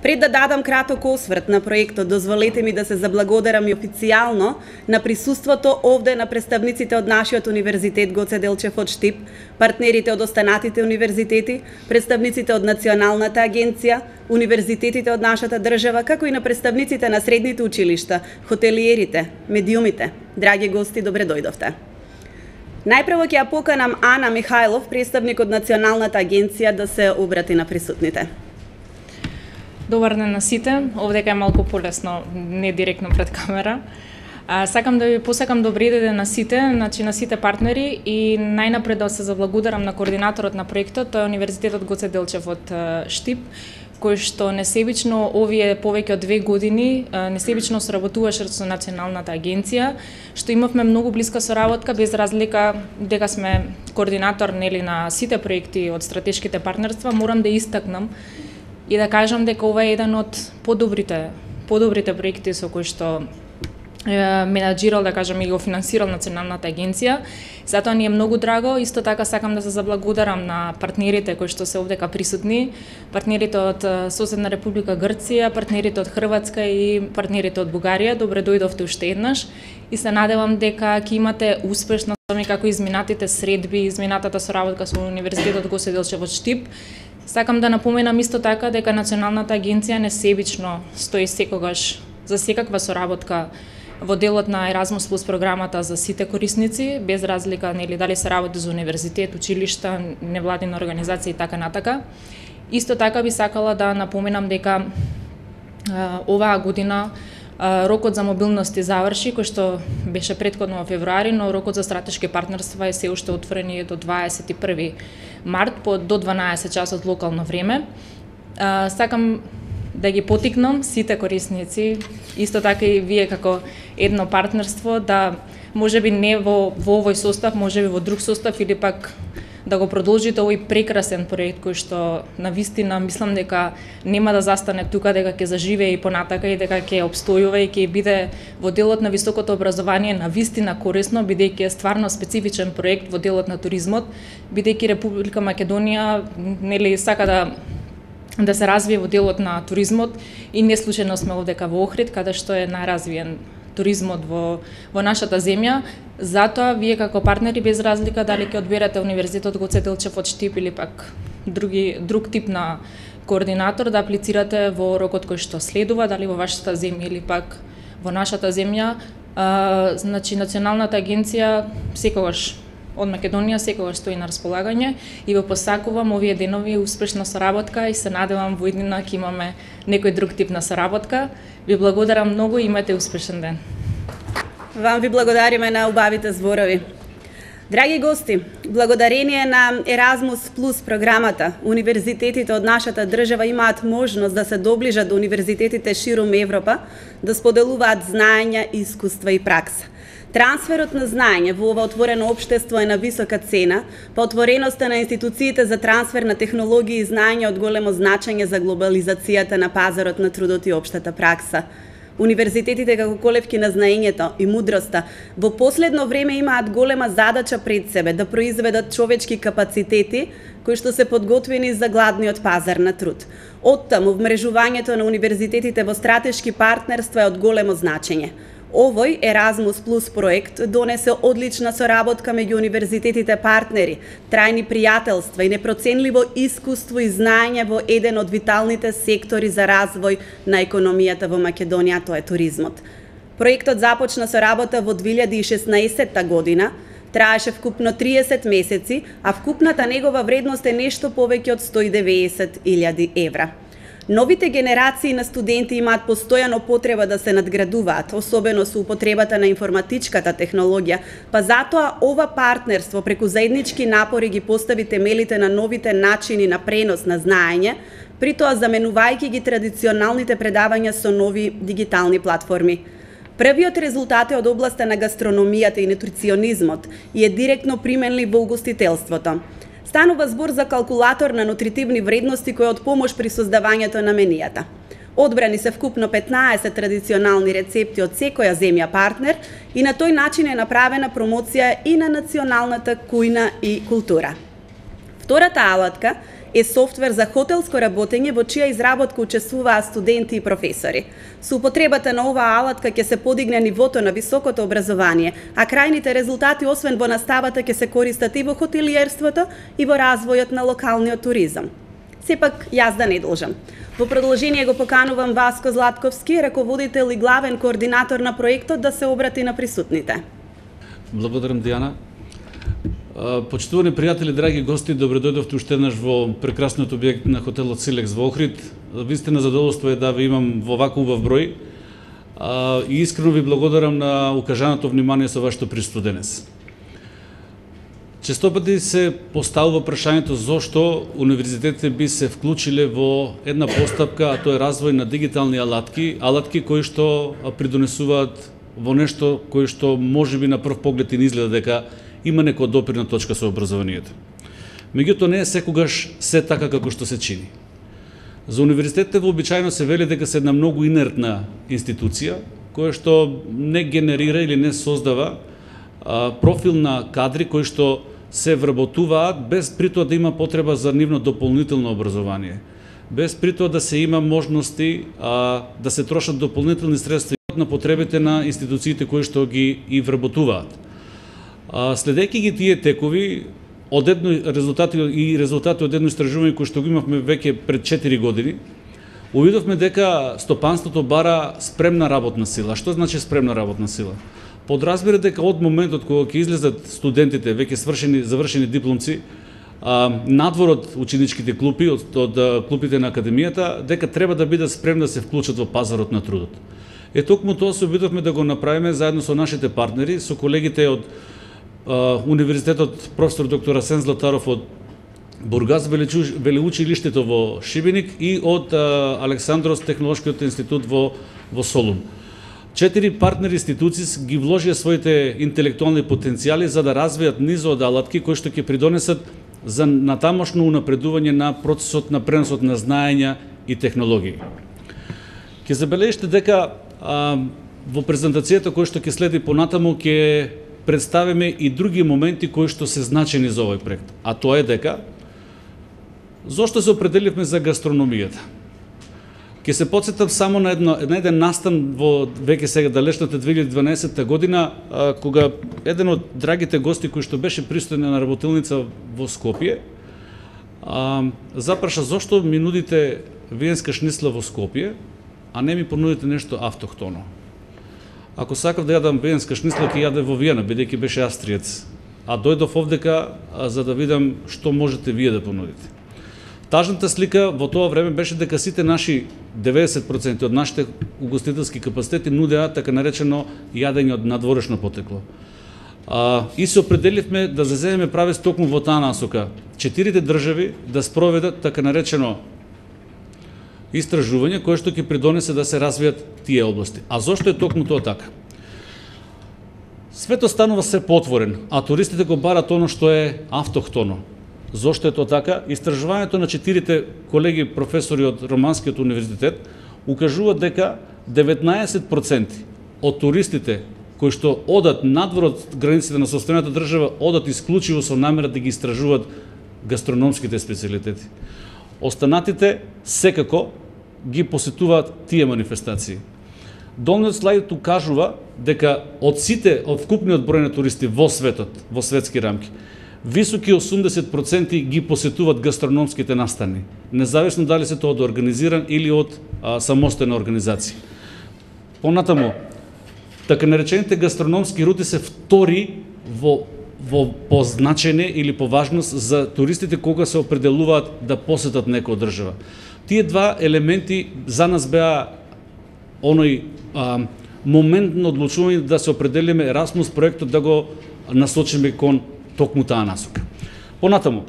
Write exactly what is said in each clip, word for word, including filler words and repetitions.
Пред да дадам краток осврт на проектот, дозволете ми да се заблагодарам и официјално на присуството овде на представниците од нашиот универзитет Гоце Делчев од Штип, партнерите од останатите универзитети, представниците од Националната агенција, универзитетите од нашата држава, како и на представниците на средните училишта, хотелиерите, медиумите. Драги гости, добре дојдовте. Најпрво ќе ја поканам Ана Михајлов, представник од Националната агенција, да се обрати на присутните. Добар ден на сите. Овдека е малку полесно, не директно пред камера. А, сакам да ви посакам добри ден на сите, значи на сите партнери и најнапред да се заблагодарам на координаторот на проектот, тој е Универзитетот Гоце Делчев од Штип, кој што несебично овие повеќе од две години несебично соработуваше со Националната агенција, што имавме многу блиска соработка, без разлика дека сме координатор нели на сите проекти од стратешките партнерства. Морам да истакнам и да кажам дека ова е еден од подобрите подобрите проекти со кои што менаџирал, да кажам, и го финансирал Националната агенција. Затоа ни е многу драго. Исто така сакам да се заблагодарам на партнерите кои што се овдека присутни, партнерите од соседна Република Грција, партнерите од Хрватска и партнерите од Бугарија. Добре дојдовте уште еднаш и се надевам дека ќе имате успешна како изминатите средби, изминатата соработка со Универзитетот Гоце Делчев од Штип. Сакам да напоменам исто така дека Националната агенција несебично стои секогаш за секаква соработка во делот на Еразмус плюс програмата за сите корисници, без разлика нели дали се работи за универзитет, училишта, невладина организација и така натака. Исто така би сакала да напоменам дека а, оваа година а, рокот за мобилност заврши, кој што беше претходно во февруари, но рокот за стратешки партнерства е се уште отворен до дваесет и први март по до дванаесет часот локално време. А, сакам да ги потикнам сите корисници, исто така и вие како едно партнерство, да можеби не во, во овој состав, можеби во друг состав или пак да го продолжите овој прекрасен проект кој што навистина мислам дека нема да застане тука, дека ќе заживее и понатака и дека ќе обстојува и ќе биде во делот на високото образование навистина корисно, бидејќи е стварно специфичен проект во делот на туризмот, бидејќи Република Македонија нели сака да да се развие во делот на туризмот и не случајно сме овдека во Охрид, каде што е најразвиен туризмот во во нашата земја. Затоа вие како партнери без разлика дали ќе одберете Универзитетот Гоце Делчев од Штип или пак други друг тип на координатор да аплицирате во рокот кој што следува, дали во вашата земја или пак во нашата земја, а, значи Националната агенција секогаш од Македонија секогаш стои на располагање и ве посакувам овие денови успешна соработка и се надевам во иднина ќе имаме некој друг тип на соработка. Ви благодарам многу и имате успешен ден. Вам ви благодариме на убавите зборови. Драги гости, благодарение на Еразмус плюс програмата, универзитетите од нашата држава имаат можност да се доближат до универзитетите ширум Европа, да споделуваат знаења, искуства и пракса. Трансферот на знаење во ова отворено општество е на висока цена, па отвореноста на институциите за трансфер на технологии и знаење од големо значење за глобализацијата на пазарот на трудот и општата пракса. Универзитетите како колевки на знаењето и мудроста во последно време имаат голема задача пред себе да произведат човечки капацитети кои што се подготвени за гладниот пазар на труд. Оттаму вмрежувањето на универзитетите во стратешки партнерства е од големо значење. Овој Еразмус плюс проект донесе одлична соработка меѓу универзитетите партнери, трајни пријателства и непроценливо искуство и знаење во еден од виталните сектори за развој на економијата во Македонија, тоа е туризмот. Проектот започна со работа во две илјади и шеснаесетта година, траеше вкупно триесет месеци, а вкупната негова вредност е нешто повеќе од сто и деветдесет илјади евра. Новите генерации на студенти имаат постојано потреба да се надградуваат, особено со употребата на информатичката технологија, па затоа ова партнерство преку заеднички напори ги постави темелите на новите начини на пренос на знаење, при тоа заменувајќи ги традиционалните предавања со нови дигитални платформи. Првиот резултат е од областа на гастрономијата и нутриционизмот и е директно применлив во угостителството. Станува збор за калкулатор на нутритивни вредности кој е од помош при создавањето на менијата. Одбрани се вкупно петнаесет традиционални рецепти од секоја земја партнер и на тој начин е направена промоција и на националната кујна и култура. Втората алатка е софтвер за хотелско работење во чија изработка учествуваат студенти и професори. Со употребата на оваа алатка ќе се подигне нивото на високото образование, а крајните резултати освен во наставата ќе се користат и во хотелиерството и во развојот на локалниот туризам. Сепак, јас да не должам. Во продолжение го поканувам Васко Златковски, раководител и главен координатор на проектот, да се обрати на присутните. Благодарам, Дијана. Почитувани пријатели, драги гости, добре дојдовте уште еднаш во прекрасниот објект на хотелот Силекс во Охрид. Вистина задоволство е да ви имам во вака убав број и искрено ви благодарам на укажаното внимание со вашето присуство денес. Често пати се поставува прашањето зошто универзитетите би се вклучиле во една постапка, а тоа е развој на дигитални алатки, алатки кои што придонесуваат во нешто кој што можеби на прв поглед и не изгледа дека има некоја допирна точка со образованието. Меѓутоа не е секогаш се така како што се чини. За универзитетите вообичаено се вели дека се една многу инертна институција која што не генерира или не создава а, профил на кадри кои што се вработуваат без притоа да има потреба за нивно дополнително образование, без притоа да се има можности а, да се трошат дополнителни средства на потребите на институциите кои што ги и вработуваат. Следејќи ги тие текови, од едно резултати и резултати од едно истражување кој што го имавме веќе пред четири години, увидовме дека стопанството бара спремна работна сила. Што значи спремна работна сила? Подразбира дека од моментот кога ќе излезат студентите, веќе свршени, завршени дипломци, а, надвор од ученичките клупи, од, од клупите на академијата, дека треба да бидат спремни да се вклучат во пазарот на трудот. Е, токму тоа се обидовме да го направиме заедно со нашите партнери, со колегите од Универзитетот професор доктор Асен Златаров од Бургас, велеучилиштето во Шибеник и од Александрос технолошкиот институт во, во Солун. Четири партнери институции ги вложија своите интелектуални потенцијали за да развијат низо од алатки кои што ќе придонесат за натамошно унапредување на процесот на преносот на знаења и технологии. Ќе забележите дека а, во презентацијата која што ќе следи понатаму ќе представиме и други моменти кои што се значени за овој проект. А тоа е дека зошто се определивме за гастрономијата. Ќе се потсетам само на, едно, на еден настан во веќе сега далечната две илјади и дванаесетта година, а, кога еден од драгите гости кој што беше присутен на работилница во Скопје, а, запраша зошто ми нудите виенска шнисла во Скопје, а не ми понудите нешто автохтоно. Ако сакав да јадам виенска шнисла, ќе јаде во Виена, бидејќи беше австриец. А дојдов овдека а, за да видам што можете вие да понудите. Тажната слика во тоа време беше дека сите наши деветдесет проценти од нашите угостителски капацитети нудеа така наречено јадење од надворешно потекло. А, и се определивме да заземеме правец токму во таа насока. Четирите држави да спроведат така наречено истражување кое што ќе придонесе да се развијат тие области. А зошто е токму тоа така? Светот станува се потворен, а туристите го барат оно што е автохтоно. Зошто е тоа така? Истражувањето на четирите колеги професори од Романскиот универзитет укажува дека деветнаесет проценти од туристите кои што одат надвор од границите на сопствената држава одат исклучиво со намера да ги истражуваат гастрономските специјалитети. Останатите секако ги посетуваат тие манифестации. Долниот слайд укажува дека од сите, од вкупниот број на туристи во светот, во светски рамки, високи осумдесет проценти ги посетуваат гастрономските настани, независно дали се тоа од организиран или од а, самостојна организација. Понатаму, така наречените гастрономски рути се втори во во позначење или по важност за туристите кога се определуваат да посетат некоја држава. Тие два елементи за нас беа оној а, моментно одлучување да се определиме Erasmus проектот да го насочиме кон токму таа насока. Понатаму,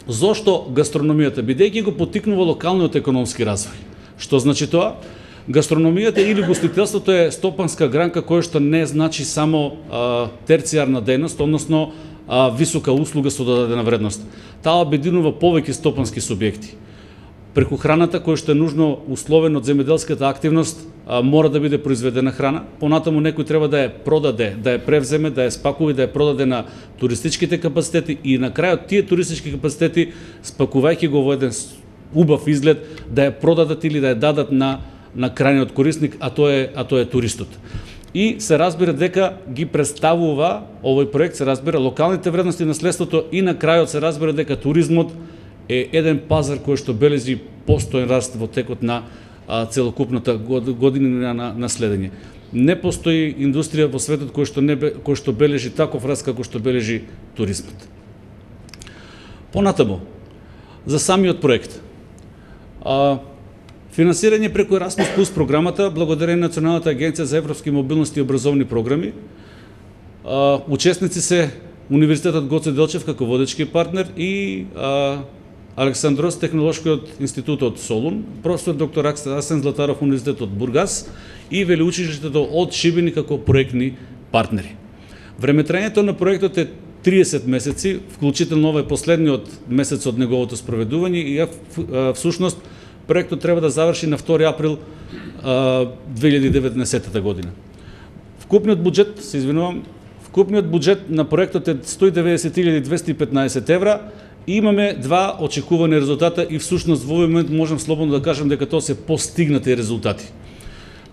зошто гастрономијата? Бидејќи го поттикнува локалниот економски развој. Што значи тоа? Гастрономијата или гостителството е стопанска гранка која што не значи само а, терцијарна дејност, односно а, висока услуга со додадена вредност. Таа обединува повеќе стопански субјекти. преку храната која што е нужно условено од земјоделската активност, а, мора да биде произведена храна. Понатаму некој треба да ја продаде, да ја превземе, да ја спакува и да ја продаде на туристичките капацитети и на крајот тие туристички капацитети, спакувајќи го во еден убав изглед, да ја продадат или да ја дадат на на крајниот корисник, а тоа е а тоа е туристот. И се разбира дека ги представува овој проект, се разбира локалните вредности на наследството и на крајот се разбира дека туризмот е еден пазар кој што бележи постојан раст во текот на а, целокупната година на наследење. Не постои индустрија во светот кој што не кој што бележи таков раст како што бележи туризмот. Понатаму за самиот проект. А, финансирање преку Erasmus Plus програмата, благодарение на Националната агенција за европски мобилност и образовни програми. А, учесници се Универзитетот Гоце Делчев како водечки партнер и а, Александрос технолошкиот институт од Солун, професор доктор Арсен Златаров Универзитет од Бургас и велеучилиштето од Шибеник како проектни партнери. Времетраењето на проектот е триесет месеци, вклучително ова е последниот месец од неговото спроведување и всушност проектот треба да заврши на втори април две илјади и деветнаесетта година. Вкупниот буџет, се извинувам, вкупниот буџет на проектот е сто и деветдесет илјади двесте и петнаесет евра и имаме два очекувани резултата и всушност во овој момент можам слободно да кажам дека тоа се постигнати резултати.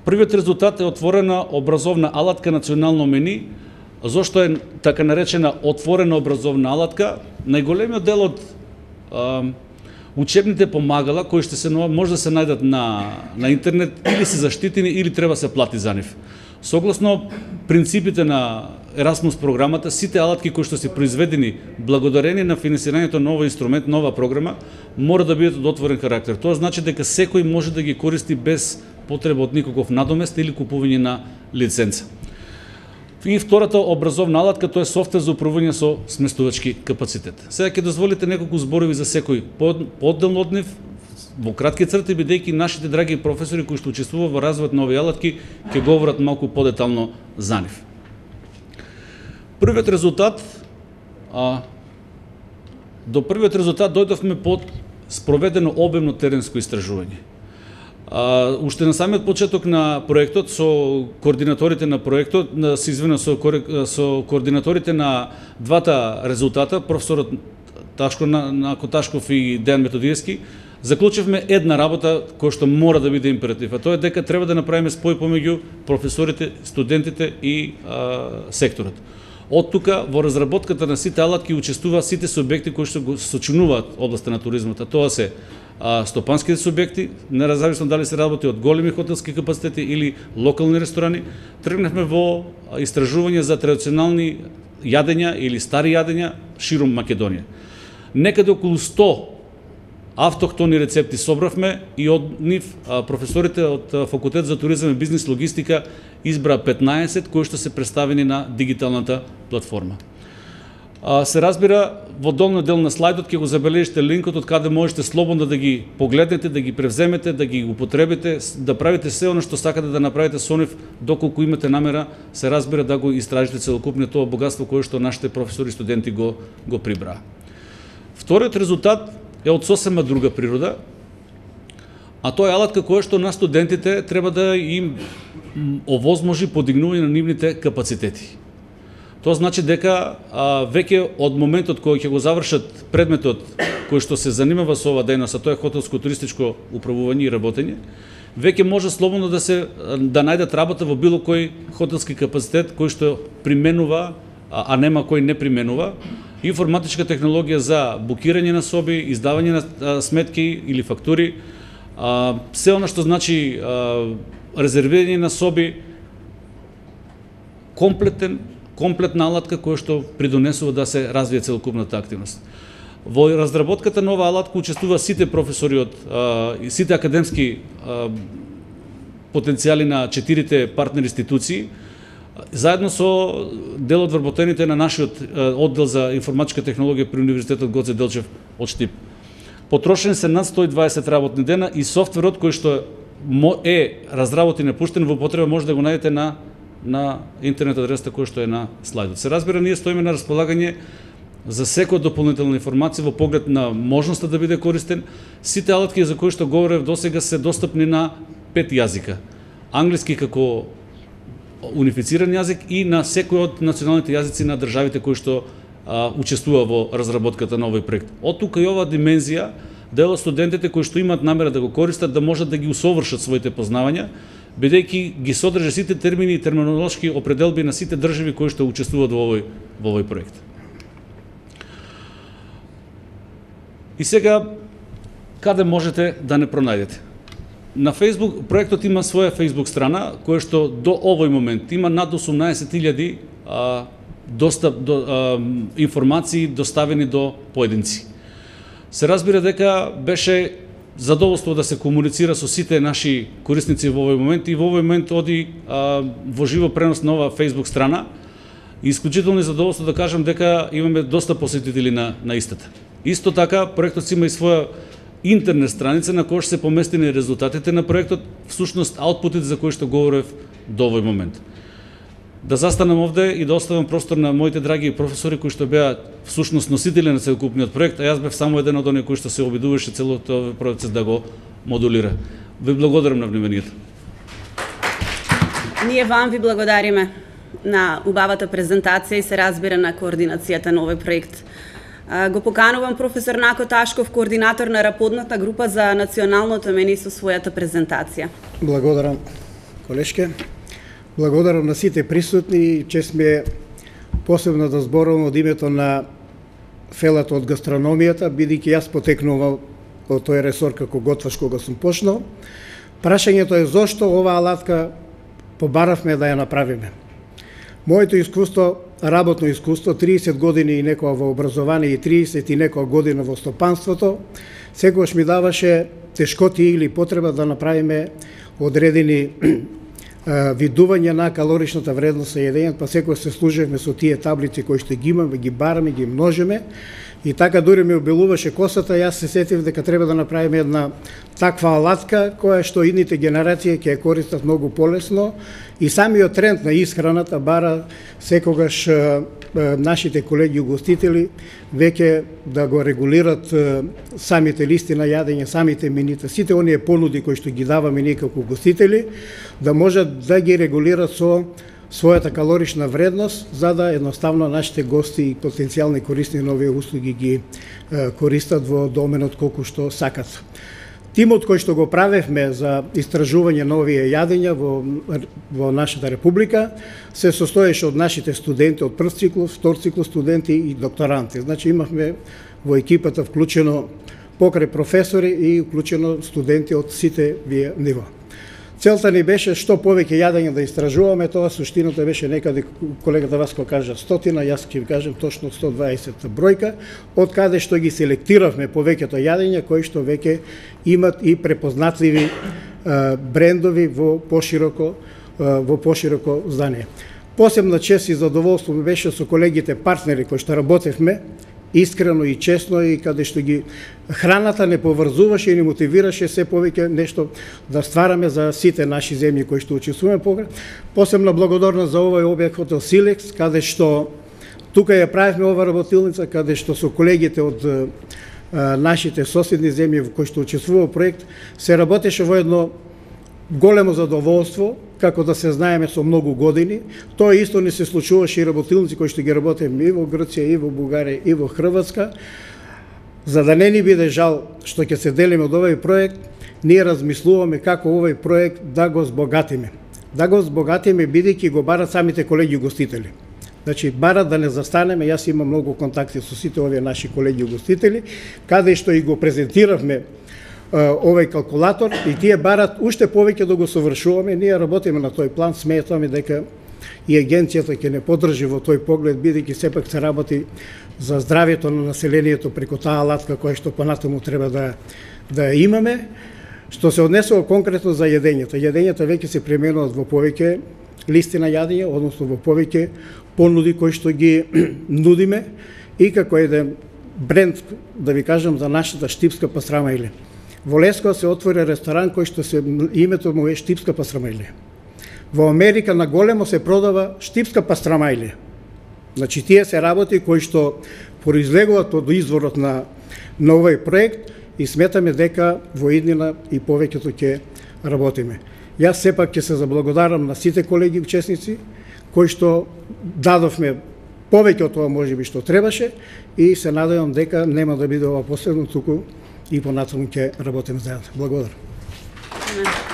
Првиот резултат е отворена образовна алатка национално мени. Зошто е така наречена отворена образовна алатка? Најголемиот дел од а, учебните помагала кои ще се може да се најдат на на интернет или се заштитени или треба се плати за нив. Согласно принципите на Erasmus програмата, сите алатки кои што се произведени благодарение на финансирањето на овој инструмент, нова програма, мора да бидат од отворен карактер. Тоа значи дека секој може да ги користи без потреба од никаков надомест или купување на лиценца. И втората образовна алатка, тоа е софтвер за управување со сместувачки капацитет. Сега ќе дозволите неколку зборови за секој поотделно од нив, во кратки црти, бидејќи нашите драги професори кои што учествуваат во развојот на овие алатки ќе говорат малку подетално за нив. Првиот резултат, а, до првиот резултат дојдовме под спроведено обемно теренско истражување. А, уште на самиот почеток на проектот со координаторите на проектот, на се извинувам со, со координаторите на двата резултата, професорот Ташко Нако Ташков и Дејан Методиевски, заклучивме една работа која што мора да биде императив, а тоа е дека треба да направиме спој помеѓу професорите, студентите и а, секторот. Од тука во разработката на сите алатки учествуваат сите субјекти кои што го сочинуваат областа на туризмот, а тоа се а, стопанските субјекти, независно дали се работи од големи хотелски капацитети или локални ресторани. Тргнавме во истражување за традиционални јадења или стари јадења широм Македонија. Некаде околу сто автохтони рецепти собравме и од нив професорите од Факултет за туризам и бизнис логистика избра петнаесет кои што се представени на дигиталната платформа. Се разбира, во долниот дел на слайдот ќе го забележите линкот од каде можете слободно да ги погледнете, да ги превземете, да ги употребите, да правите се оно што сакате да направите со нив, доколку имате намера, се разбира, да го истражите целокупниот тоа богатство кое што нашите професори и студенти го го прибраа. Вториот резултат е од сосема друга природа, а тоа е алатка која што на студентите треба да им овозможи подигнување на нивните капацитети. Тоа значи дека а, веќе од моментот кој ќе го завршат предметот кој што се занимава со ова дејност, а тоа е хотелско-туристичко управување и работење, веќе може слободно да се да најдат работа во било кој хотелски капацитет кој што применува, а, а нема кој не применува информатичка технологија за букирање на соби, издавање на а, сметки или фактури, а, се она што значи а, резервирање на соби, комплетен комплетна алатка која што придонесува да се развие целокупната активност. Во разработката на оваа алатка учествува сите професори од а, сите академски а, потенцијали на четирите партнер институции, заедно со дел од вработените на нашиот а, оддел за информатичка технологија при Универзитетот Гоце Делчев од Штип. Потрошени се над сто и дваесет работни дена и софтверот кој што е разработен и пуштен во употреба може да го најдете на на интернет адресата која што е на слайдот. Се разбира, ние стоиме на располагање за секоја дополнителна информација во поглед на можноста да биде користен. Сите алатки за кои што говорев досега се достапни на пет јазика. Англиски како унифициран јазик и на секој од националните јазици на државите кои што а, учествува во разработката на овој проект. Од тука и оваа димензија, дел од студентите кои што имаат намера да го користат, да можат да ги усовршат своите познавања, бидејќи ги содржи сите термини и терминолошки определби на сите држави кои што учествуваат во овој во овој проект. И сега, каде можете да не пронајдете? На Facebook, проектот има своја Facebook страна, која што до овој момент има над осумнаесет илјади достап до а, информации доставени до поединци. Се разбира дека беше задоволство да се комуницира со сите наши корисници во овој момент и во овој момент оди а, во живо пренос на оваа Facebook страна. И исклучително задоволство да кажам дека имаме доста посетители на, на истата. Исто така, проектот има и своја интернет страница на која што се поместени резултатите на проектот, всушност аутпутите за кои што говорев до овој момент. Да застанам овде и да оставам простор на моите драги професори кои што беа всушност носители на целокупниот проект, а јас бев само еден од оние кои што се обидуваше целиот овој процес да го модулира. Ви благодарам на вниманието. Ние вам ви благодариме на убавата презентација и се разбира на координацијата на овој проект. Го поканувам професор Нако Ташков, координатор на работната група за националното мени со својата презентација. Благодарам, колешке. Благодарам на сите присутни и чест ми е посебно да зборувам од името на фелата од гастрономијата, бидејќи јас потекнувам од тој ресор како готваш кога сум почнал. Прашањето е зошто оваа алатка побаравме да ја направиме. Моето искуство, работно искуство, триесет години и некоја во образование и триесет и некоја година во стопанството, секогаш ми даваше тешкоти или потреба да направиме одредени видување на калоричната вредност на јадењето, па секој се служевме со тие таблици кои што ги имаме, ги бараме, ги множиме. И така дури ми обилуваше косата, јас се сетив дека треба да направиме една таква алатка која што идните генерации ќе ја користат многу полесно и самиот тренд на исхраната бара секогаш е, е, нашите колеги угостители веќе да го регулират е, самите листи на јадење, самите менита, сите оние понуди кои што ги даваме ние како угостители, да можат да ги регулират со својата калорична вредност, за да едноставно нашите гости и потенцијални корисни на овие услуги ги е, користат во доменот колку што сакат. Тимот кој што го правевме за истражување на овие јадења во, во нашата република се состоеше од нашите студенти од прв циклус, втор циклус студенти и докторанти. Значи имавме во екипата вклучено покрај професори и вклучено студенти од сите вие нива. Целта ни беше што повеќе јадење да истражуваме, тоа суштината беше некаде, колегата Васко кажа стотина, јас ќе ви кажем точно сто дваесет бројка, од каде што ги селектиравме повеќето јадења кои што веќе имат и препознатливи е, брендови во пошироко е, во пошироко здание. Посебна чест и задоволство ми беше со колегите партнери кои што работевме искрено и честно и каде што ги храната не поврзуваше и не мотивираше се повеќе нешто да ствараме за сите наши земји кои што учествуваме. Посебна благодарност за овој објект хотел Силекс, каде што тука ја правевме ова работилница, каде што со колегите од а, нашите соседни земји кои што учествува проект се работеше во едно големо задоволство, како да се знаеме со многу години. Тоа исто не се случуваше и работилници кои што ги работеме и во Грција, и во Бугарија, и во Хрватска. За да не ни биде жал што ќе се делиме од овој проект, ние размислуваме како овој проект да го збогатиме. Да го збогатиме бидејќи го барат самите колеги угостители. Значи, барат да не застанеме, јас имам многу контакти со сите овие наши колеги угостители, каде што и го презентиравме овој калкулатор и тие барат уште повеќе да го совршуваме. Ние работиме на тој план, сметаме дека и агенцијата ќе не поддржи во тој поглед, бидејќи сепак се работи за здравјето на населението преку таа алатка која што понатаму треба да да имаме. Што се однесува конкретно за јадењето. Јадењата веќе се пременуваат во повеќе листи на јадење, односно во повеќе понуди кои што ги нудиме и како еден бренд, да ви кажам, за нашата штипска пастрамајле. Во Лескова се отвори ресторан кој што се името му е штипска пастрамајле. Во Америка на големо се продава штипска пастрамајле. Значи тие се работи кои што произлегуваат од изворот на, на овој проект и сметаме дека во иднина и повеќето ќе работиме. Јас сепак ќе се заблагодарам на сите колеги учесници кои што дадовме повеќе од тоа можеби што требаше и се надевам дека нема да биде ова последно, туку и понатаму ќе работиме заедно. Благодарам.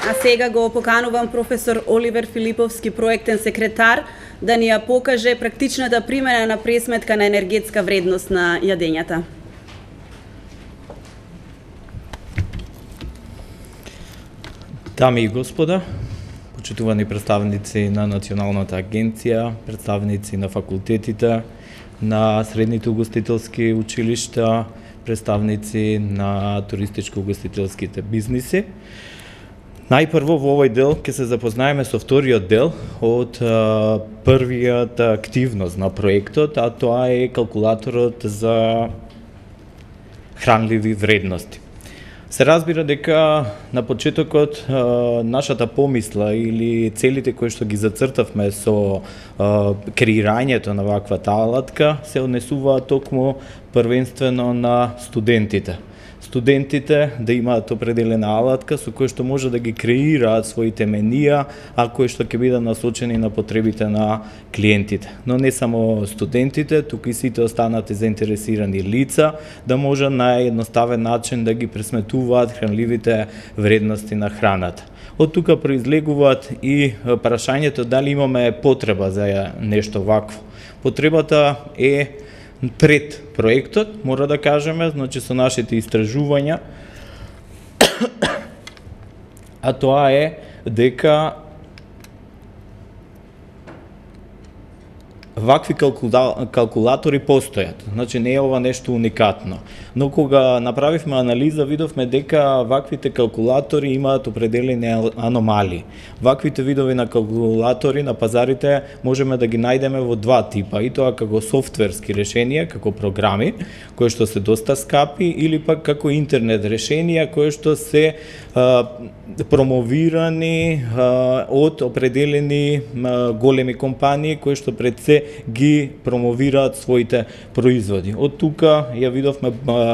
А сега го поканувам професор Оливер Филиповски, проектен секретар, да ни ја покаже практичната примена на пресметка на енергетска вредност на јадењата. Дами и господа, почитувани представници на Националната агенција, представници на факултетите, на средните угостителски училишта, представници на туристичко-угостителските бизниси. Најпрво во овој дел ќе се запознаеме со вториот дел од а, првиот активност на проектот, а тоа е калкулаторот за хранливи вредности. Се разбира дека на почетокот а, нашата помисла или целите кои што ги зацртавме со а, креирањето на ваквата алатка се однесуваат токму првенствено на студентите. Студентите да имаат определена алатка со кој што може да ги креираат своите менија, а кои што ќе бидат насочени на потребите на клиентите. Но не само студентите, туку и сите останати заинтересирани лица да може на едноставен начин да ги пресметуваат хранливите вредности на храната. Од тука произлегуваат и прашањето дали имаме потреба за нешто вакво. Потребата е пред проектот, мора да кажеме, значи со нашите истражувања, а тоа е дека вакви калкула... калкулатори постојат. Значи не е ова нешто уникатно. Но кога направивме анализа, видовме дека ваквите калкулатори имаат определени аномалии. Ваквите видови на калкулатори на пазарите можеме да ги најдеме во два типа, и тоа како софтверски решенија, како програми, кои што се доста скапи, или пак како интернет решенија, кои што се а, промовирани а, од определени а, големи компании, кои што пред се ги промовираат своите производи. Од тука ја видовме а,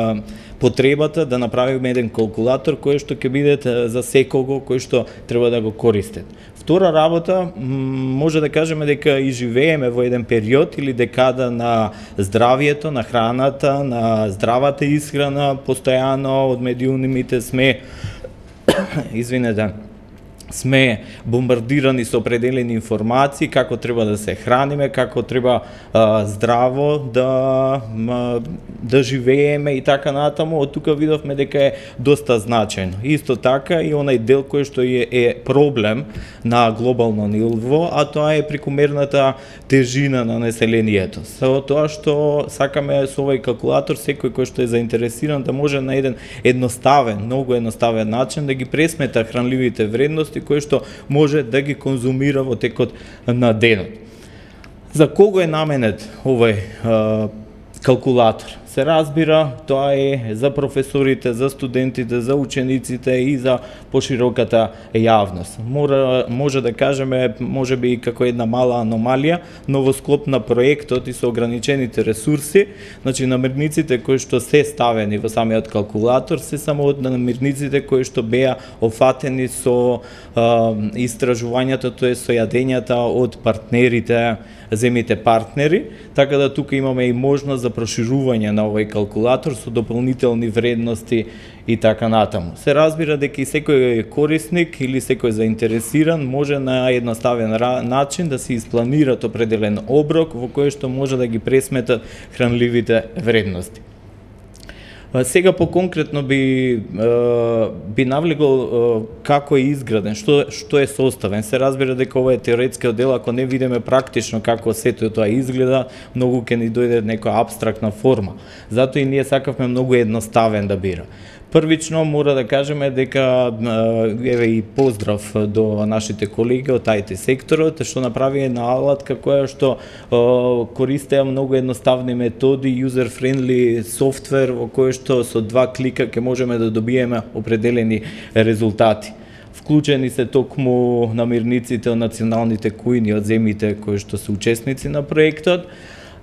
потребата да направиме еден калкулатор кој што ќе биде за секого кој што треба да го користат. Втора работа, може да кажеме дека и живееме во еден период или декада на здравието, на храната, на здравата исхрана, постојано од медиумите сме извинете, сме бомбардирани со определени информации како треба да се храниме, како треба а, здраво да а, да живееме и така натаму. Од тука видовме дека е доста значајно. Исто така и онај дел кој што е, е проблем на глобално ниво, а тоа е прекумерната тежина на населението. Со тоа што сакаме со овој калкулатор секој кој што е заинтересиран да може на еден едноставен, многу едноставен начин да ги пресмета хранливите вредности кој што може да ги конзумира во текот на денот. За кого е наменет овој а, калкулатор? Се разбира, тоа е за професорите, за студентите, за учениците и за пошироката јавност. Мора, може да кажеме, може би како една мала аномалија, но во склоп на проектот и со ограничените ресурси, значи намирниците кои што се ставени во самиот калкулатор се само од намирниците кои што беа офатени со а, истражувањето, тоа е со јадењата од партнерите, земите партнери, така да тука имаме и можност за проширување на овој калкулатор со дополнителни вредности и така натаму. Се разбира дека и секој корисник или секој заинтересиран може на едноставен начин да се испланират определен оброк во кој што може да ги пресметат хранливите вредности. Сега по-конкретно би би навлегол како е изграден, што што е составен. Се разбира дека ова е теоретскиот дел, ако не видиме практично како сето тоа изгледа, многу ќе ни дојде некоја апстрактна форма. Затоа и ние сакавме многу едноставен да бира. Првично мора да кажеме дека еве и поздрав до нашите колеги од ай ти секторот што направи една алатка која што користеа многу едноставни методи, user-friendly софтвер во кој што со два клика ќе можеме да добиеме определени резултати. Вклучени се токму намирниците од националните кујни од земјите кои што се учесници на проектот,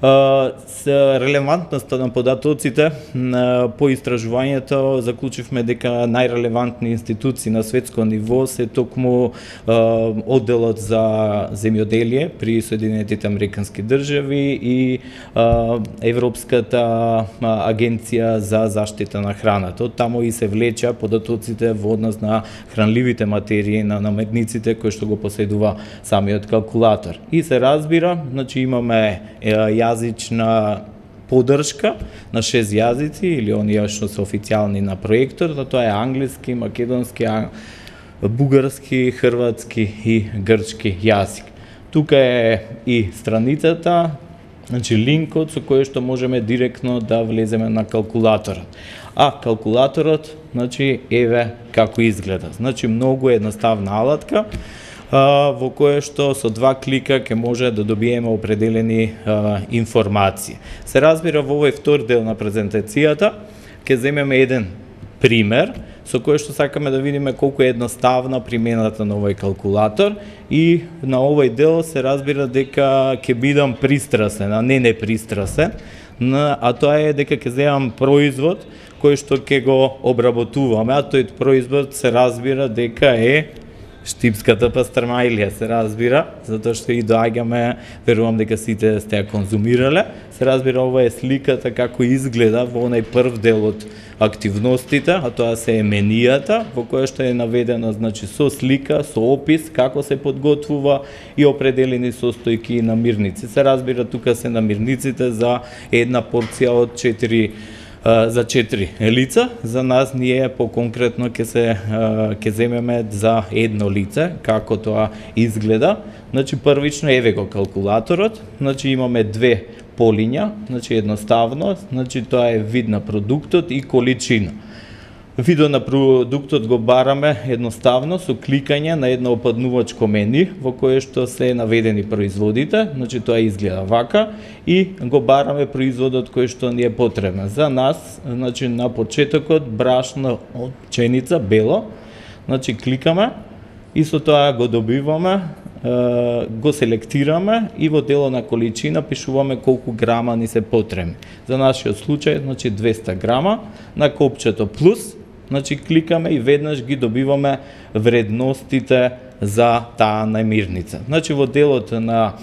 С релевантноста на податоците по истражувањето заклучивме дека најрелевантни институции на светско ниво се токму одделот за земјоделие при Соединетите Американски држави и Европската агенција за заштита на храната. Од таму и се влеча податоците во однос на хранливите материи, на наметниците кои што го поседува самиот калкулатор. И се разбира, значи имаме јазична поддршка на шест јазици или оние што се официјални на проектор, тоа е англиски, македонски, бугарски, хрватски и грчки јазик. Тука е и страницата, значи линкот со кој што можеме директно да влеземе на калкулаторот. А калкулаторот, значи еве како изгледа. Значи многу едноставна алатка, во кое што со два клика ќе може да добиеме определени а, информации. Се разбира, во овој втор дел на презентацијата ќе земеме еден пример со кој што сакаме да видиме колку е едноставна примената на овој калкулатор, и на овој дел се разбира дека ќе бидам пристрасен, а не непристрасен, а тоа е дека ќе земам производ кој што ќе го обработуваме, а тој производ се разбира дека е штипската пастрмајлија, се разбира, затоа што и доаѓаме, верувам дека сите сте ја конзумирале. Се разбира, ова е сликата како изгледа во онај прв дел од активностите, а тоа се е менијата, во која што е наведено, значи, со слика, со опис, како се подготвува и определени состојки и намирници. Се разбира, тука се намирниците за една порција од четири за четири лица. За нас ние по-конкретно ќе се ќе земеме за едно лице, како тоа изгледа. Значи првично еве го калкулаторот, значи имаме две полиња, значи едноставно, значи тоа е вид на продуктот и количина. Видот на продуктот го бараме едноставно со кликање на едно опаднувачко мени во кое што се наведени производите, значи тоа изгледа вака, и го бараме производот кој што ни е потребен. За нас, значи на почетокот брашно од пченица бело, значи кликаме и со тоа го добиваме, го селектираме и во дело на количина пишуваме колку грама ни се потребни. За нашиот случај, значи двеста грама, на копчето плюс, значи кликаме и веднаш ги добиваме вредностите за таа намирница. Значи во делот на,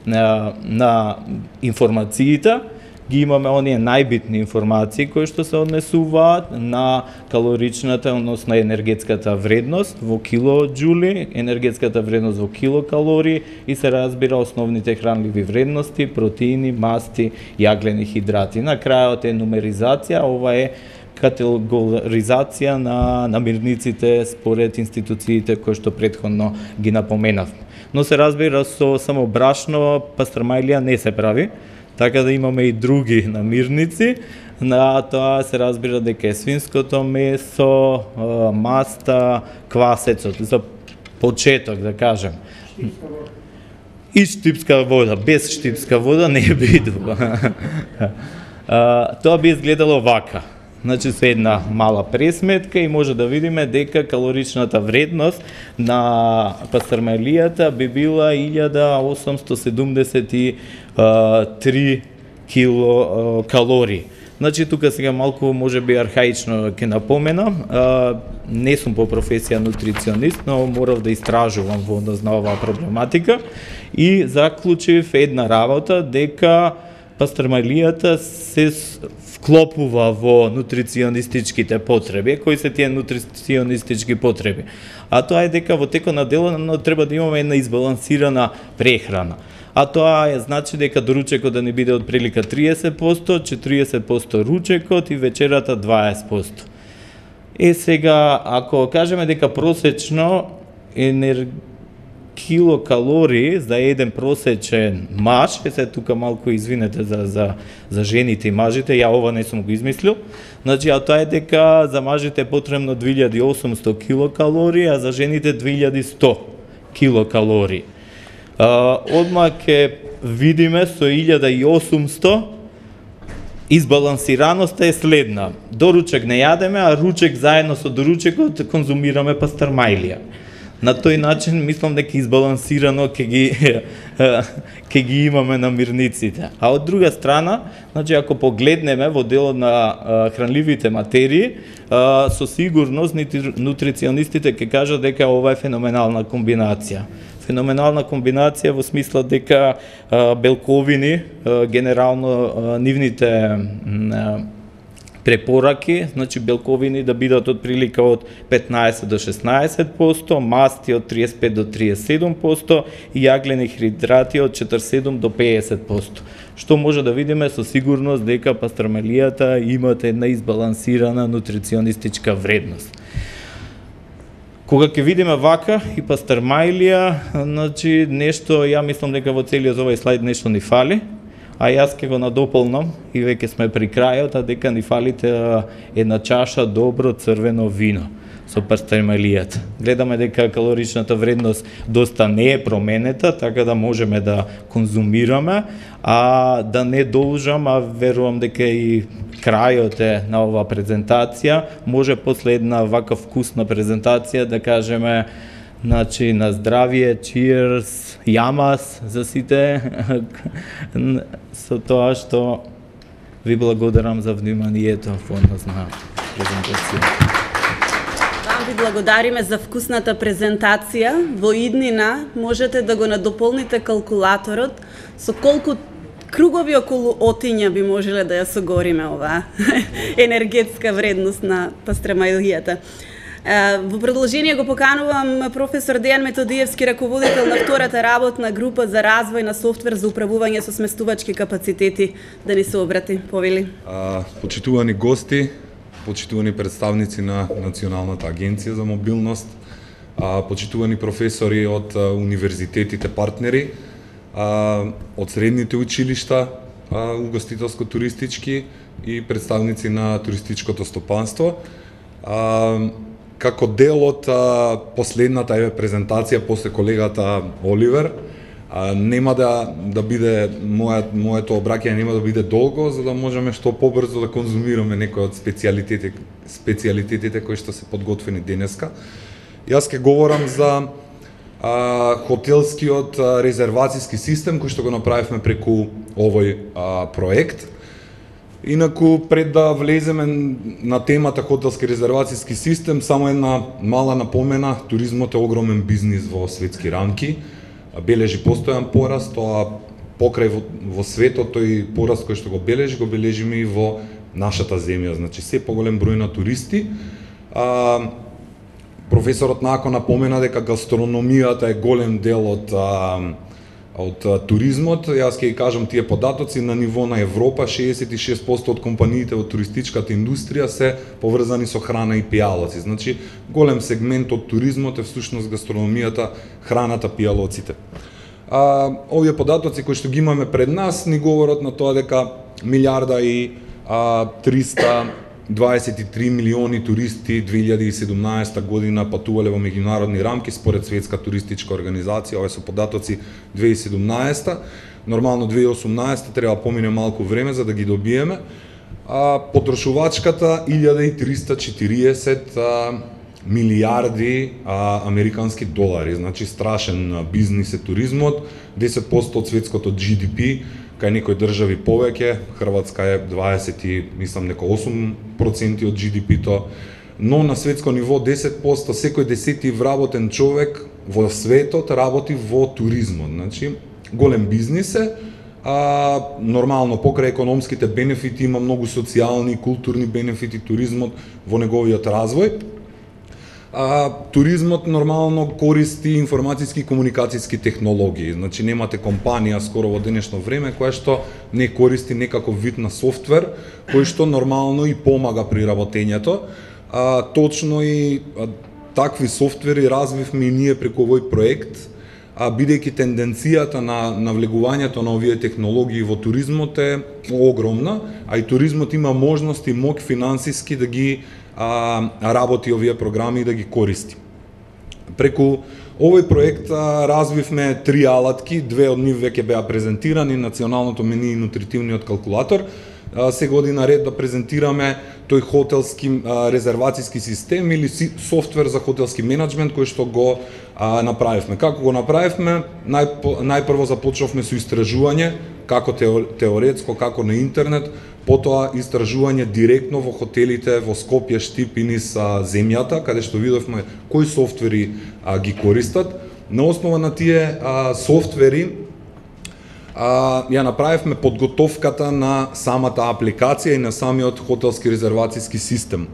на, на информациите ги имаме оние најбитни информации кои што се однесуваат на калоричната, односно енергетската вредност во килоџули, енергетската вредност во килокалории и се разбира основните хранливи вредности, протеини, масти, јаглени хидрати. На крајот е нумеризација, ова е категоризација на намирниците според институциите кои што претходно ги напоменавме. Но се разбира, со само брашно пастрмајлија не се прави, така да имаме и други намирници. На тоа се разбира дека е свинското месо, маста, квасецот, за почеток да кажем. И штипска вода, без штипска вода не би идува. Тоа би изгледало вака. Значи со една мала пресметка и може да видиме дека калоричната вредност на пастрмајлијата би била илјада осумсто седумдесет и три килокалории. Значи тука сега малку можеби архаично ќе напоменам, не сум по професија нутриционист, но морав да истражувам во однос на оваа проблематика и заклучив една работа дека пастрмајлијата се вклопува во нутриционистичките потреби. Кои се тие нутриционистички потреби? А тоа е дека во текот на денот треба да имаме една избалансирана прехрана. А тоа е значи дека доручекот да ни биде од прилика триесет проценти, четириесет проценти ручекот и вечерата дваесет проценти. Е сега, ако кажеме дека просечно енер... килокалории за еден просечен маж, е се тука малку извинете за, за, за жените и мажите, ја ова не сум го измислил, значи, а тоа е дека за мажите е потребно две илјади и осумсто килокалории, а за жените две илјади и сто килокалории. А, одма ќе видиме со илјада и осумсто избалансираноста е следна. Доручек не јадеме, а ручек заедно со доручекот конзумираме пастрмајлија. На тој начин мислам дека избалансирано ќе ги ќе ги имаме намирниците. А од друга страна, значи ако погледнеме во делот на хранливите материи, со сигурност нутриционистите ќе кажат дека ова е феноменална комбинација. Феноменална комбинација во смисла дека белковини, генерално нивните препораки, значи белковини да бидат од прилика од петнаесет до шеснаесет проценти, масти од триесет и пет до триесет и седум проценти и јаглени хидрати од четрдесет и седум до педесет проценти. Што може да видиме со сигурност дека пастрамелијата имат една избалансирана нутриционистичка вредност. Кога ќе видиме вака и пастермајлија, значи нешто, ја мислам дека во целиот овој слайд нешто ни фали, а јас ќе го надополнам и веќе сме при крајот, а дека ни фалите една чаша добро црвено вино со пастермајлијата. Гледаме дека калоричната вредност доста не е променета, така да можеме да конзумираме, а да не должам, а верувам дека и крајот е на оваа презентација, може после една вака вкусна презентација да кажеме, значи на здравие, cheers, јамас за сите, со тоа што ви благодарам за вниманието во однос на презентација. Ви благодариме за вкусната презентација. Во иднина можете да го надополните калкулаторот со колку кругови околу отиња би можеле да ја согориме оваа енергетска вредност на пастрамајлијата. Во продолжение го поканувам професор Дејан Методиевски, раководител на втората работна група за развој на софтвер за управување со сместувачки капацитети, да ни се обрати. Повели. Почитувани гости, почитувани представници на Националната агенција за мобилност, почитувани професори од универзитетите партнери, од средните училишта, угостителско-туристички и представници на туристичкото стопанство. Како дел од последната презентација после колегата Оливер, нема да да биде мојот моето обраќање нема да биде долго, за да можеме што побрзо да конзумираме некои од специјалитетите специјалитетите кои што се подготвени денеска. Јас ќе говорам за а, хотелскиот а, резервацијски систем кој што го направивме преку овој а, проект. Инаку, пред да влеземе на темата хотелски резервацијски систем, само една мала напомена, туризмот е огромен бизнис во светски рамки, бележи постојан пораст, тоа покрај во, во светот, тој пораст кој што го бележи, го бележиме и во нашата земја, значи се поголем број на туристи. А, професорот Нако напомена дека гастрономијата е голем дел од а, од туризмот. Јас ќе ги кажам тие податоци на ниво на Европа, шеесет и шест проценти од компаниите во туристичката индустрија се поврзани со храна и пијалоци. Значи, голем сегмент од туризмот е всушност гастрономијата, храната, пијалоците. А, овие податоци кои што ги имаме пред нас ни говорат на тоа дека милијарда и триста дваесет и три милиони туристи две илјади и седумнаесета година патувале во меѓународни рамки според Светска туристичка организација. Овие се податоци две илјади и седумнаесета. Нормално две илјади и осумнаесета треба помине малку време за да ги добиеме. А потрошувачката илјада и триста и четириесет милијарди а, американски долари. Значи страшен бизнис е туризмот, десет проценти од светското Джи Ди Пи, кај некои држави повеќе, Хрватска е дваесет и мислам дека осум проценти од Джи Ди Пи-то, но на светско ниво десет проценти, секој десети вработен човек во светот работи во туризмот. Значи, голем бизнис е, а нормално покрај економските бенефити има многу социјални и културни бенефити туризмот во неговиот развој. А, туризмот нормално користи информацијски и комуникацијски технологии. Значи немате компанија скоро во денешно време која што не користи некаков вид на софтвер кој што нормално и помага при работењето. А, точно и а, такви софтвери развивме и ние преку овој проект, а бидејќи тенденцијата на навлегувањето на овие технологии во туризмот е огромна, а и туризмот има можности моќ финансиски да ги а, работи овие програми и да ги користи. Преку овој проект а, развивме три алатки, две од нив веќе беа презентирани, националното мени и нутритивниот калкулатор. се година ред да презентираме тој хотелски а, резервацијски систем или си, софтвер за хотелски менеджмент кој што го а, направивме. Како го направивме? Нај, најпрво започнавме со истражување, како теоретско, како на интернет, потоа истражување директно во хотелите во Скопје, Штип и низ а, земјата, каде што видовме кои софтвери а, ги користат. На основа на тие а, софтвери а, ја направивме подготовката на самата апликација и на самиот хотелски резервацијски систем.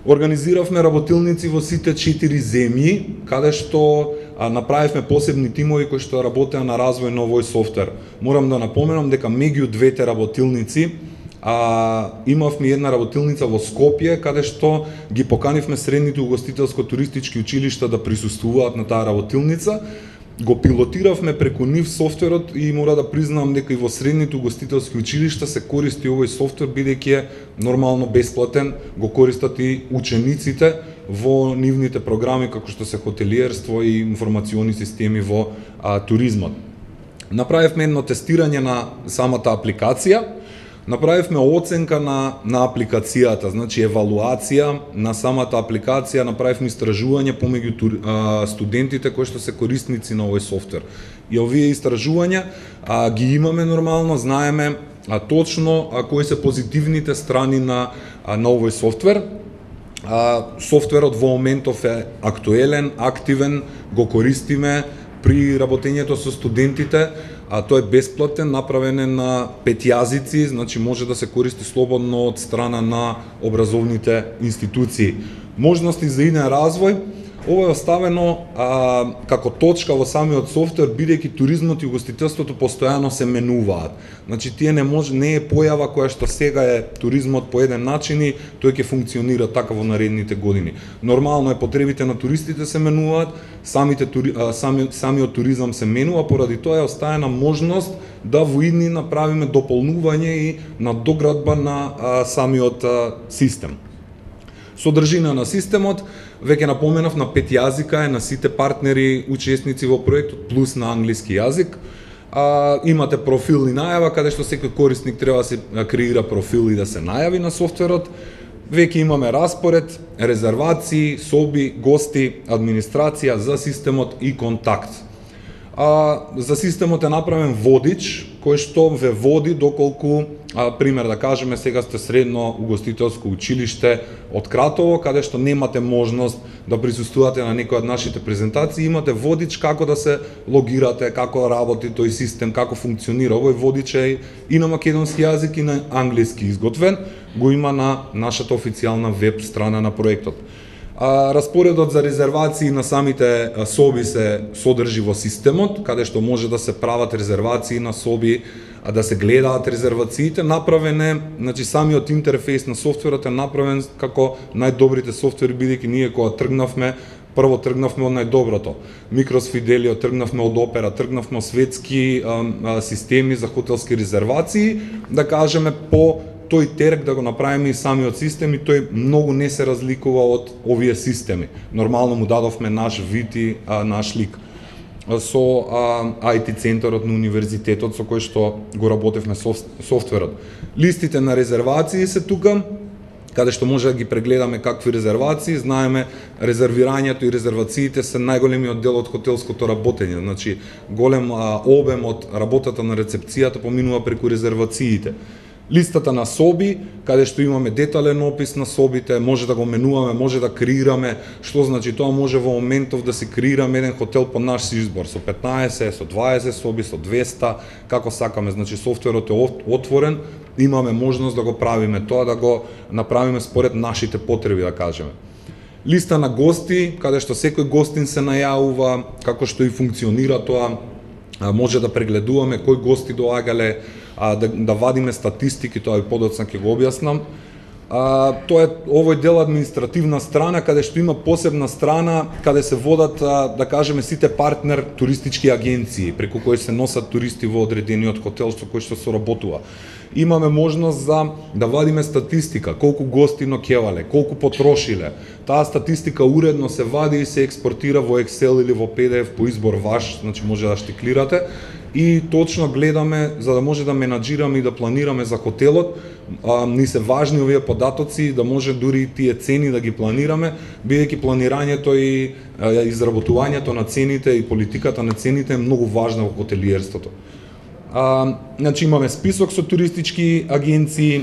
Организиравме работилници во сите четири земји, каде што а, направивме посебни тимови кои што работеа на развој на овој софтвер. Морам да напоменам дека меѓу двете работилници а, имавме една работилница во Скопје, каде што ги поканивме средните угостителско-туристички училишта да присуствуваат на таа работилница. Го пилотиравме преку нив софтверот и мора да признам дека и во средните угостителски училишта се користи овој софтвер, бидејќи е нормално бесплатен, го користат и учениците во нивните програми како што се хотелиерство и информациони системи во а, туризмот. Направивме едно тестирање на самата апликација. Направивме оценка на, на апликацијата, значи евалуација на самата апликација, направивме истражување помеѓу а, студентите кои што се корисници на овој софтвер. И овие истражувања а, ги имаме нормално, знаеме а, точно а, кои се позитивните страни на, а, на овој софтвер. А, софтверот во моментов е актуелен, активен, го користиме при работењето со студентите. А тој е бесплатен, направен е на пет јазици, значи може да се користи слободно од страна на образовните институции. Можности за иден развој, ова е оставено а, како точка во самиот софтвер, бидејќи туризмот и угостителството постојано се менуваат. Значи тие не може не е појава која што сега е туризмот по еден начин и тој ќе функционира така во наредните години. Нормално е, потребите на туристите се менуваат, самите тури, а, сами, самиот туризам се менува, поради тоа е оставена можност да во идни направиме дополнување и надоградба на а, самиот а, систем. Содржина на системот, веќе напоменав, на пет јазика е на сите партнери, учесници во проектот, плюс на англиски јазик. А, имате профил и најава, каде што секој корисник треба да се креира профил и да се најави на софтверот. Веќе имаме распоред, резервации, соби, гости, администрација за системот и контакт. А, за системот е направен водич, кој што ве води доколку, а, пример да кажеме, сега сте средно угостителско училиште од Кратово, каде што немате можност да присуствувате на некој од нашите презентации, имате водич како да се логирате, како работи тој систем, како функционира. Овој водич е и на македонски јазик и на англиски изготвен, го има на нашата официјална веб страна на проектот. А, распоредот за резервации на самите соби се содржи во системот, каде што може да се прават резервации на соби, а да се гледаат резервациите. Направен е, значи самиот интерфејс на софтверот е направен како најдобрите софтвери, бидејќи ние кога тргнавме, прво тргнавме од најдоброто. Микрос Фиделио, тргнавме од Опера, тргнавме од светски а, а, системи за хотелски резервации, да кажеме по тој терк да го направиме и самиот систем, и тој многу не се разликува од овие системи. Нормално му дадовме наш вид и а, наш лик. Со а, ай ти центарот на универзитетот со кој што го работевме соф, софтверот. Листите на резервации се тука, каде што може да ги прегледаме какви резервации. Знаеме, резервирањето и резервациите се најголемиот дел од хотелското работење. Значи, голем а, обем од работата на рецепцијата поминува преку резервациите. Листата на соби, каде што имаме детален опис на собите, може да го менуваме, може да креираме, што значи тоа може во моментов да се креираме еден хотел по наш избор, со петнаесет, со дваесет соби, со двеста, како сакаме. Значи софтверот е отворен, имаме можност да го правиме тоа, да го направиме според нашите потреби, да кажеме. Листа на гости, каде што секој гостин се најавува, како што и функционира тоа, може да прегледуваме кои гости доагале, а, да, да вадиме статистики, тоа и подоцна ќе го објаснам. А, тоа е овој дел административна страна, каде што има посебна страна, каде се водат, а, да кажеме, сите партнер туристички агенции, преку кои се носат туристи во одредениот хотел со кој што соработува. Имаме можност за да вадиме статистика, колку гости ноќевале, колку потрошиле. Таа статистика уредно се вади и се експортира во Excel или во пи ди еф по избор ваш, значи може да штиклирате, и точно гледаме за да може да менаџираме и да планираме за хотелот. А, ни се важни овие податоци, да може дури и тие цени да ги планираме, бидејќи планирањето и а, изработувањето на цените и политиката на цените е многу важна во хотелиерството. А, значи имаме список со туристички агенции,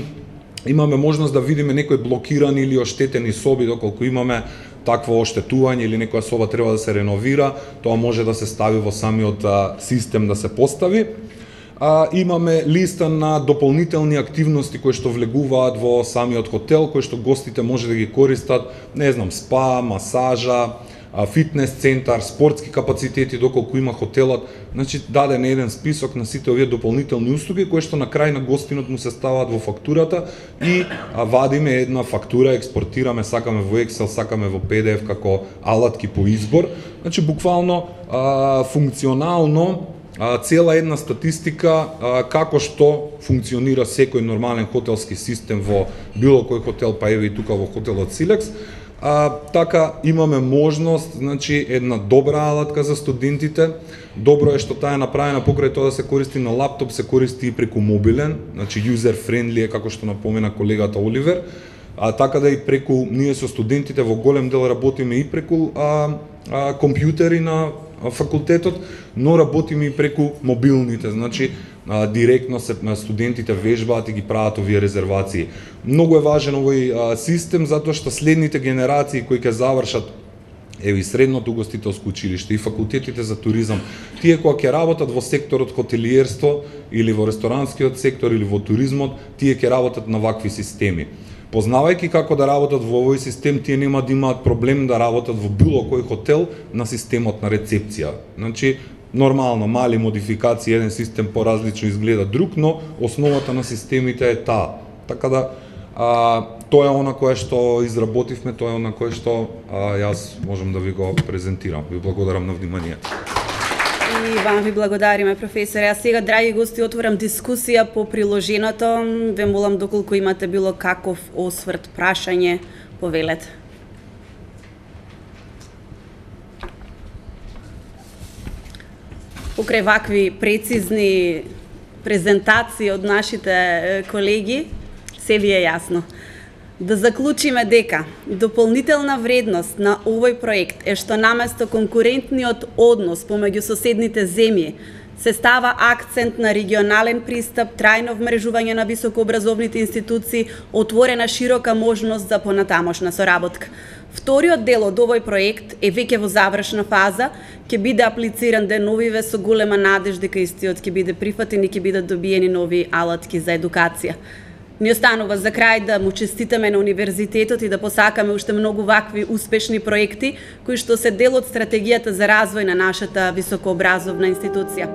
имаме можност да видиме некои блокирани или оштетени соби, доколку имаме такво оштетување или некоја соба треба да се реновира, тоа може да се стави во самиот а, систем да се постави. А, имаме листа на дополнителни активности кои што влегуваат во самиот хотел, кои што гостите може да ги користат, не знам, спа, масажа, фитнес центар, спортски капацитети доколку има хотелот. Значи даден еден список на сите овие дополнителни услуги кои што на крај на гостинот му се ставаат во фактурата и а, вадиме една фактура, експортираме, сакаме во Excel, сакаме во пи ди еф како алатки по избор. Значи буквално а, функционално а, цела една статистика а, како што функционира секој нормален хотелски систем во било кој хотел, па еве и тука во хотелот Силекс. А, така имаме можност, значи една добра алатка за студентите. Добро е што таа е направена покрај тоа да се користи на лаптоп, се користи и преку мобилен, значи user friendly е како што напомена колегата Оливер. А така да и преку ние со студентите во голем дел работиме и преку а, а, компјутери на факултетот, но работиме и преку мобилните, значи а, директно се студентите вежбаат и ги прават овие резервации. Многу е важен овој а, систем затоа што следните генерации кои ќе завршат еве и средното угостителско училиште и факултетите за туризам, тие кои ќе работат во секторот хотелиерство или во ресторанскиот сектор или во туризмот, тие ќе работат на вакви системи. Познавајќи како да работат во овој систем, тие нема да имаат проблем да работат во било кој хотел на системот на рецепција. Значи, нормално, мали модификации, еден систем поразлично изгледа друг, но основата на системите е таа. Така да, а, тоа е она кое што изработивме, тоа е она кое што а, јас можам да ви го презентирам. Ви благодарам на вниманието. И вам ви благодариме, професоре. А сега, драги гости, отворам дискусија по приложеното. Ве молам, доколку имате било каков осврт, прашање, повелете. Покрај вакви прецизни презентации од нашите колеги, се ви е јасно. Да заклучиме дека дополнителна вредност на овој проект е што наместо конкурентниот однос помеѓу соседните земји се става акцент на регионален пристап, трајно вмрежување на високообразовните институции, отворена широка можност за понатамошна соработка. Вториот дел од овој проект е веќе во завршна фаза, ќе биде аплициран деновиве со голема надеж дека истиот ќе биде прифатен и ќе бидат добиени нови алатки за едукација. Ни останува за крај да му честитаме на универзитетот и да посакаме уште многу вакви успешни проекти кои што се дел од стратегијата за развој на нашата високообразовна институција.